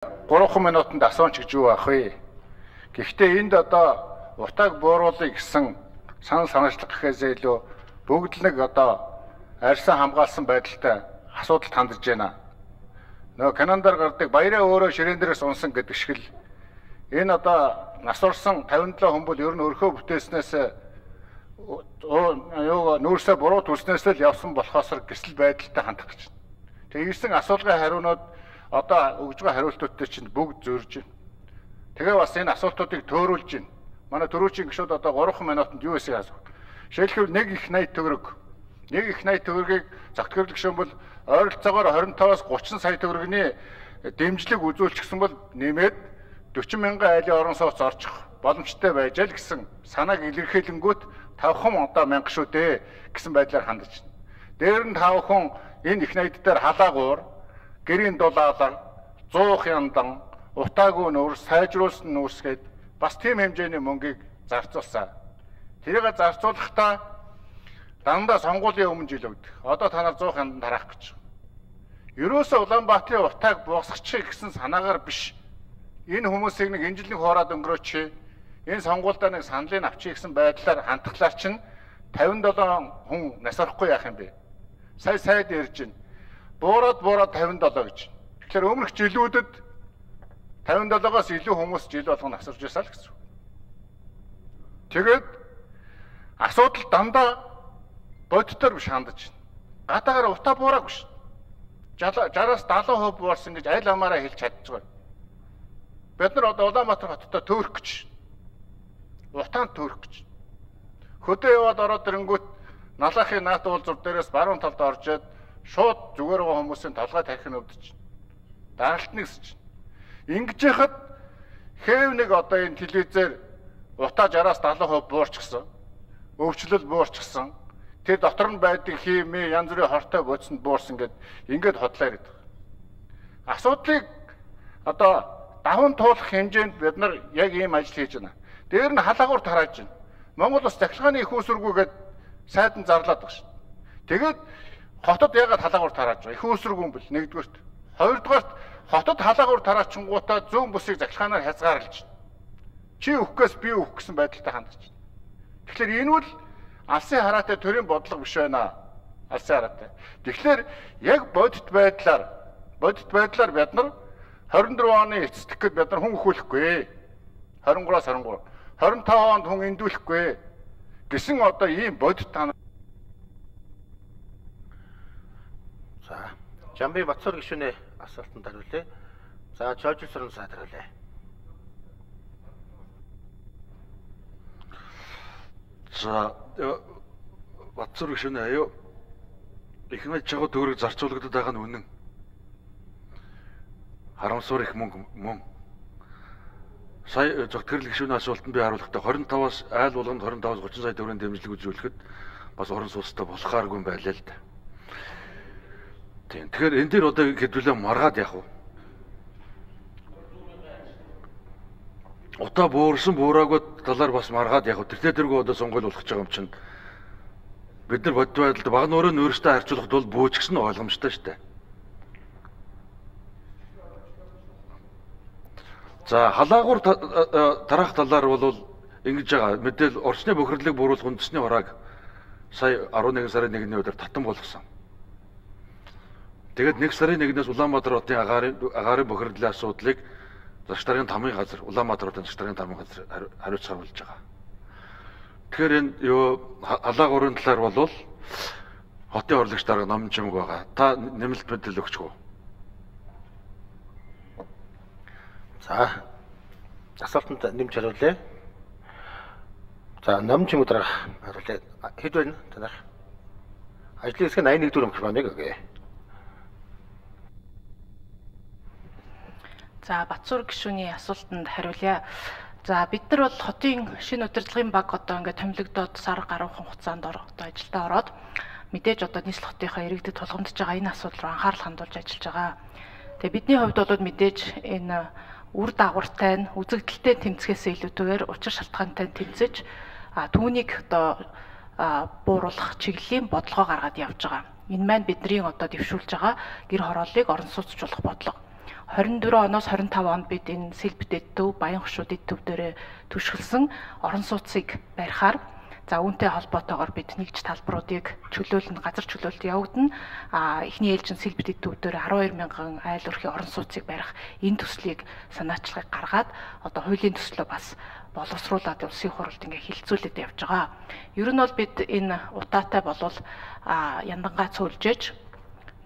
3 минутанд асууж гэж юу ах вэ? Гэхдээ энд одоо утааг бууруулъя гэсэн санал санаачлах гэхээсээ илүү бүгд л нэг одоо арьсан хамгаалсан байдалтай асуудалд хандж байна. Нөгөө Канадаар гардаг баяраа өөрөө ширээн дээрээс унсан гэдэг шиг л энэ одоо нас орсон 57 хүн бол ер нь өрхөө бүтээснээс нүүрсээ буруу төрснээс л явсан болохоос гэсэл байдалтай хандах гэж. Тэгээ ирсэн асуулгын хариунууд одоо өгж байгаа хариултуудтай чинь бүгд зөрж байна. Тэгээ бас энэ асуултуудыг төөрүүлж байна. Манай төрүүчийн гишүүд одоо 3 минутанд юу хийсэй асуух. Жишээлбэл нэг их 80 төгрөг. Нэг их 80 төгрөгийг загтгэрл гишүүн бол ойролцоогоор 25-аас 30 сая төгрөгийн дэмжлэг үзүүлчихсэн бол нэмээд 40 мянган айлын орон сууц орчих боломжтой байж л гэсэн санааг илэрхийлэнгүүт 5 одоо мянга шүү дээ гэсэн байдлаар хандж байна. Дээр нь 5 хүн энэ их 80 дээр халаагуур гэрийн дулаалар 100 яндан утаагүй нүүрс сайжруулсан нүүрсгээд бас тийм хэмжээний мөнгийг зарцуулсан. Тэрийг зарцуулахдаа дандаа сонгуулийн өмнө жил өгдөг. Одоо та нар 100 яндан тараах гэж. Ерөөсөө Улаанбаатарын утааг буусгачих гэсэн санаагаар биш. Энэ хүмүүсийг нэг энэ жилийн хоороод өнгөрөөч. Энэ сонгуульдаа нэг саналыг авчиж гэсэн байдлаар хандхлаар чинь 57 хүн нас орохгүй яах юм бэ? Сайд ярьж байна. Буураад 57 гэж. Тэгэхээр өмнөх жилүүдэд 57-аас илүү хүмүүс жил болгоно асарж байсан л гэсэн. Тэгээд асуудал дандаа бодитоор биш хандаж байна. Гадаагаар утаа буураагүй ш. 60-аас 70% буурсан гэж аль амаараа хэлж чадчихгүй. Бид нар одоо Улаанбаатар хоттой төөрөх гэж. Утаанд төөрөх гэж. Хөдөө яваад ороод ирэнгүүт налахын наат уулзур дээрээс баруун талд оржээд шууд зүгээр байгаа хүмүүсийн толгой тархин өвдөж. Даралтны гэсэж. Ингэж яхад хэв нэг одоо энэ телевизээр утаа 60-аас 70% буурчихсан. Өвчлөл буурчихсан. Тэр дотор нь байдаг химээ янз бүрийн хортой бодсонд буурсан ингээд хотлоо гэдэг. Асуудлыг одоо даван туулах хэмжээнд бид нар яг ийм ажил хийж байна. Дээр нь халаагуур тарааж байна. Монгол Улс захиргааны их үүсвэргүйгээд сайдан зарлаад байгаа шүү. Тэгээд хотод ягаад халаагуур тарааж байгаа? Их үүсвэргүй юм бэл нэгдүгээрт. Хоёрдугаарт хотод халаагуур тараачингуудаа зүүн бүсийг захиргаанаар хязгаарлаж байна. Чи өгөхгүйс би өгөх гэсэн байдалтай хандж байна. Тэгэхээр энэ бол алсын хараатай төрийн бодлого биш байна. Алсын хараатай. Тэгэхээр яг бодит байдлаар бид нар 24 оны эцэстэгт бид нар хүн өхүүлэхгүй. 23-аас 23. 25 онд хүн эндүүлэхгүй. Гэсэн одоо ийм бодит тань. За, Жамби Батцуур гишүүний асуултанд хариулъя. За, Жожилсрын сайд хариулъя. За, Батцуур гишүүний аюу их 80 чагуу төгрөг зарцуулагдаад байгаа нь үнэн. Харамсуур их мөн. Сая зөвхөн гишүүний асуултанд би хариулахдаа 25-аас айл болгонд 25-аас 30 сая төгрөгийн дэмжлэг үзүүлэхэд бас орон сууцтай болохааргүй байлаа л да. Тийм. Тэгэхээр энэ дээр одоо хэдүүлээ маргаад яах вэ? Утаа буурсан буураагүй талаар бас маргаад яах вэ? Тэрдэргүй одоо сонгуул болох гэж байгаа юм чинь. Бид нар бодит байдалд баг нөрөө өөрөөсөө харьцуулахд бол бөөчгсөн нь ойлгомжтой шүү дээ. За, халаагуур тараах талаар бол ингэж байгаа. Мэдээл орчны бохирлыг бууруулах үндэсний хурааг сая 11 сарын 1-ний өдөр татан болгосон. Тэгээд 1 сарын 1-ээс Улаанбаатар хотын агаарын бохирлын асуудлыг Засаг даргын тамгын газар, Улаанбаатар хотын засаг даргын тамгын газар хариуцсан болж байгаа. Тэгэхээр энэ халаагуурын талаар бол хотын урлагч дарга номын чимэг байгаа. Та нэмэлт мэдээлэл өгч гоо. За, асуултанд нэмж хариулъя. За, номын чимэг дарга хариулъя. Хэд байна танах? Ажлын хэсэг 81 дүр өмч байна гэгээ. За, Батцуур гишүүний асуултанд хариулъя. За, бид нар бол хотын шинэ удирдлагын баг одоо ингээд томилогдоод сар гаруйхан хугацаанд одоо ажилдаа ороод мэдээж одоо нийслэл хотынхаа иргэдэд тулгамдж байгаа энэ асуудал руу анхаарал хандуулж ажиллаж байгаа. Тэгээ бидний хувьд бол мэдээж энэ үр дагавартай нь үзэгдэлтэй тэмцэхээс илүүтэйгээр учир шалтгаантай тэмцэж түүнийг одоо бууруулах чиглэлийн бодлогоо гаргаад явж байгаа. Энэ маань бидний одоо дэвшүүлж байгаа гэр хорооллыг орон сууцчлуулах бодлого. 24 оноос 25 онд бид энэ Сэлбэдэд төв, Баян хошууд эд төв дээрээ түшгэлсэн орон сууцыг барихаар за үүнтэй холбоотойгоор бид нэгж талбаруудыг чөлөөлнө, газар чөлөөлөлт явагдана. Эхний ээлжин Сэлбэдэд төв дээр 12 мянган айл өрхийн орон сууцыг барих энэ төслийг санаачлагыг гаргаад одоо хуулийн төслөө бас боловсруулад улсын хурлд ингээ хилцүүлээд явж байгаа. Ер нь бол бид энэ утаатай болвол яндангаа цөөлжээж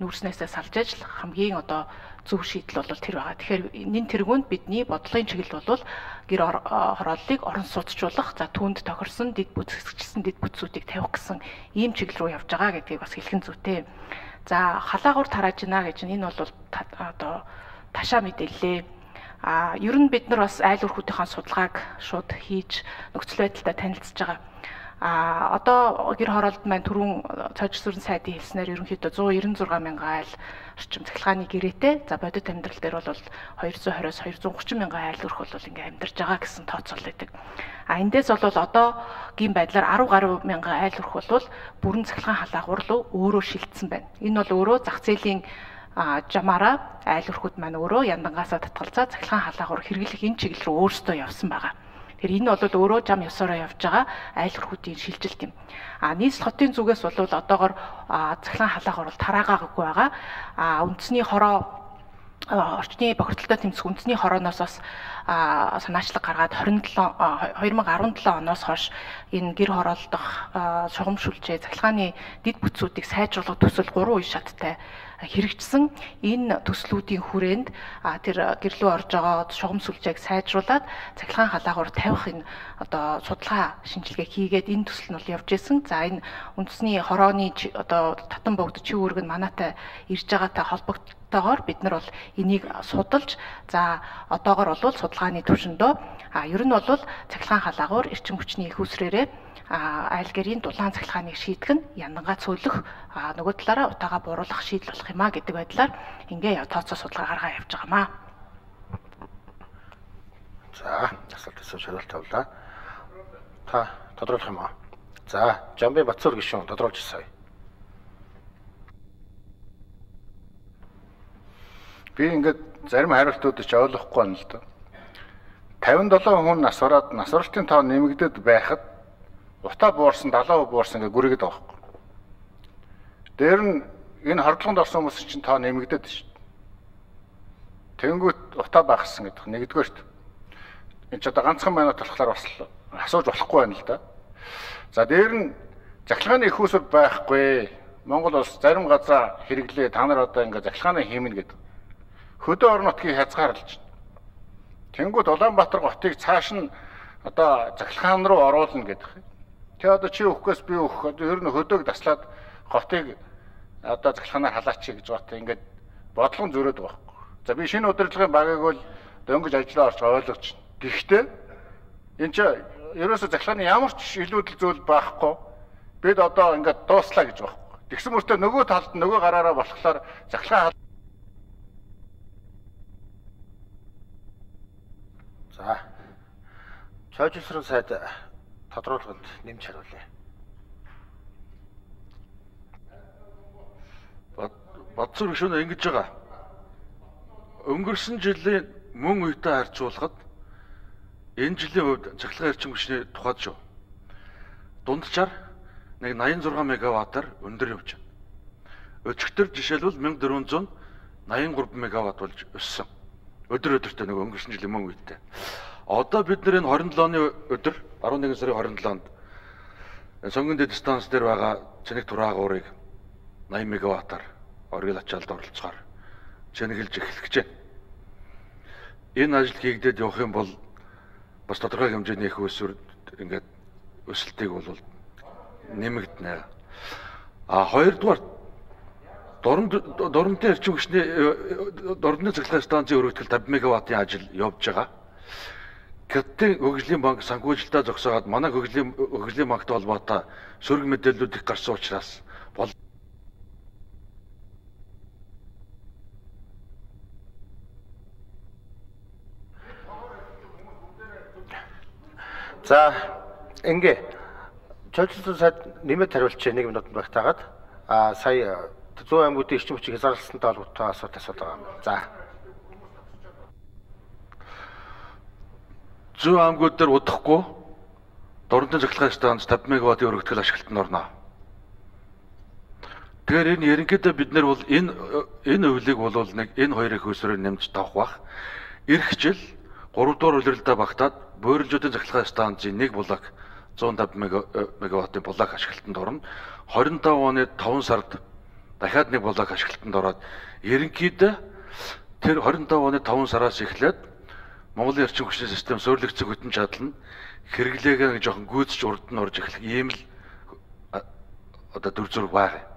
нүүрснээсээ салж ажил хамгийн одоо зөв шийдэл бол тэр байгаа. Тэгэхээр энэ тэргуунд бидний бодлогын чиглэл бол гэр хорооллыг орон сууцчлуулах, за түүнд тохирсон дэд бүтцэгчсэн дэд бүтцүүдийг тавих гэсэн ийм чиглэл рүү явж байгаа гэдгийг бас хэлэх нь зүйтэй. За халаагуур тарааж гинэ гэж энэ бол одоо ташаа мэдээллээ. Ер нь бид нар бас айл өрхүүдийнхээ судалгааг шууд хийж нөхцөл байдалтай танилцж байгаа. Одоо гэр хороолд маань түрүүн цаашрын сайдын хэлснээр ерөнхийдөө 196 мянган айл орчим цахилгааны гэрээтэй. За бодит амьдрал дээр бол 220-оос 230 мянган айл өрх бол ингээ амьдарч байгаа гэсэн тооцоол байдаг. Эндээс бол одоогийн байдлаар 10 гаруй мянган айл өрх бол бүрэн цахилгаан халаагуур руу өөрөө шилжсэн байна. Энэ бол өөрөө зах зээлийн жамаараа айл өрхүүд маань өөрөө яндангаасаа татгалзаа цахилгаан халаагуур хэрэглэх энэ чиглэл рүү өөрсдөө явсан байгаа. Тэгэхээр энэ бол өөрөө зам ёсороо явж байгаа айл өрхүүдийн шилжилт юм. Нийслэл хотын зүгээс бол одоогор цахилгаан халаагуур бол тараагаагүй байгаа. Үндэсний хороо орчны бохирдолтой тэмцэх үндэсний хорооноос бас санаачлаг гаргаад 2017 оноос хойш энэ гэр хороолдох шугам шүлжээ цахилгааны дэд бүтцүүдийг сайжруулах төсөл 3 үе шаттай хэрэгжсэн. Энэ төслүүдийн хүрээнд тэр гэрлүү орж байгаа шугам сүлжээг сайжруулад цахилгаан халаагуур тавих энэ одоо судалгаа шинжилгээ хийгээд энэ төсөл нь бол явж исэн. За энэ үндэсний хорооны одоо татан богд чив үүрэг нь манайтай ирж байгаатай холбогдтойгоор бид нар бол энийг судалж за одоогор бол судалгааны түвшиндөө ер нь бол цахилгаан халаагуур эрчим хүчний их усрээрээ айл гэрийн дулаан цахилгааныг шийдэх нь яндангаа цөөлөх нөгөө талаараа утаагаа бууруулах шийдэл болох юм а гэдэг байдлаар ингээ тооцоо судалгаа гаргаа явж байгаамаа. За, асуулт хариулт тавлаа. Та тодруулах юм аа. За, Жамбын Батцуур гишүүн тодруулж сая. Би ингээд зарим хариултуудыг ч ойлгохгүй байна л да. 57 хүн насвараад насварлтын тоо нэмэгдээд байхад утаа буурсан 70% буурсан гэж гүрийгээд байгаа байхгүй. Дээр нь энэ хордлогонд орсон хүмүүс чинь тоо нэмэгдээд шүү. Тэнгүүт утаа багассан гэдэг нэгдүгээрт. Энэ ч одоо ганцхан минут болохоор бас асууж болохгүй байна л да. За дээр нь захилгааны их усур байхгүй. Монгол улс зарим газар хэрэглээ та нар одоо ингээд захилгааны хиймнэ гэдэг. Хөдөө орон нутгийг хязгаарлаж байна. Тэнгүүд Улаанбаатар готыг цааш нь одоо захилгаан руу оруулна гэдэг. Тэ одоо чи өгөхөөс би өгөх. Одоо ер нь хөдөөг таслаад готыг одоо захилгаанаар халаач гэж бата ингээд бодлого зөрөөд байгаа байхгүй. За би шинэ удирдлагын багийг бол дөнгөж ажиллаа орч ойлгож байна. Гэхдээ энэ ч ерөөсө захилгааны ямар ч илүүдэл зүйл байхгүй. Бид одоо ингээд дууслаа гэж байгаа байхгүй. Тэгсэн мөртөө нөгөө талд нөгөө гараараа болохоор захилгаан За. Чойжсрын сайд тодруулганд нэмж хариулъя. Батцуур гишүүн ингэж байгаа. Өнгөрсөн жилийн мөн үетэй харьцуулахад энэ жилийн хувьд цахилгаан эрчим хүчний тухайд шүү. Дунджаар нэг 86 мегаваттаар өндөр явж байна. Өчигдөр жишээлбэл 1483 мегаватт болж өссөн. Өдөр-өдөртөө нэг өнгөрсөн жилийн мөн үетэй. Одоо бид нэр энэ 27 оны өдөр 11 сарын 27-нд сонгон дэд станц дээр байгаа Цэник тураагуурыг 80 мегаваттаар оргил ачаалд оролцохоор чэнэгэлж эхлэх гэж байна. Энэ ажил хийгдээд явах юм бол бас тодорхой хэмжээний их өсвөр ингээд өсөлтийг бол нэмэгдэнэ. Хоёрдугаар дорнотын эрчим хүчний дорнотын цахилгаан станцын өргөдгөл 50 мегаваттын ажил явж байгаа. Гэтэл хөгжлийн банк санхүүжилтаа зогсоогоод манай хөгжлийн банктай холбоотой сөрөг мэдээллүүд их гарсан учраас За ингээ чөлөөсөн сайд нэмээд хариулчих 1 минутанд багтаагаад сая 100 аймагуудын эрчим хүчийг хязгаарлалтантай холбоотой асуулт байгаа юм. За. зүүн аймагуд дээр удахгүй дорнодын цахилгаан станц 50 мегаваттын өргөтгөл ашиглалтанд орно. Тэгэхээр энэ ерөнхийдөө бид нар бол энэ хувилыг бол нэг энэ хоёрын хөөсрөөр нэмж тавах бах. Ирэх жил 3 дугаар улиралдаа багтаад буйралжуудын цахилгаан станцын 1 блок 150 мегаваттын блок ашиглалтанд орно. 25 оны 5 сард дахиад 1 блок ашиглалтанд ороод ерөнхийдөө тэр 25 оны 5 сараас эхлээд Монголын эрчим хүчний систем суурилагдсан хөтөн чадал нь хэрэглээгээ жоохон гүйцэж урд нь орж эхлэх ийм л одоо төр зүрх байгаа.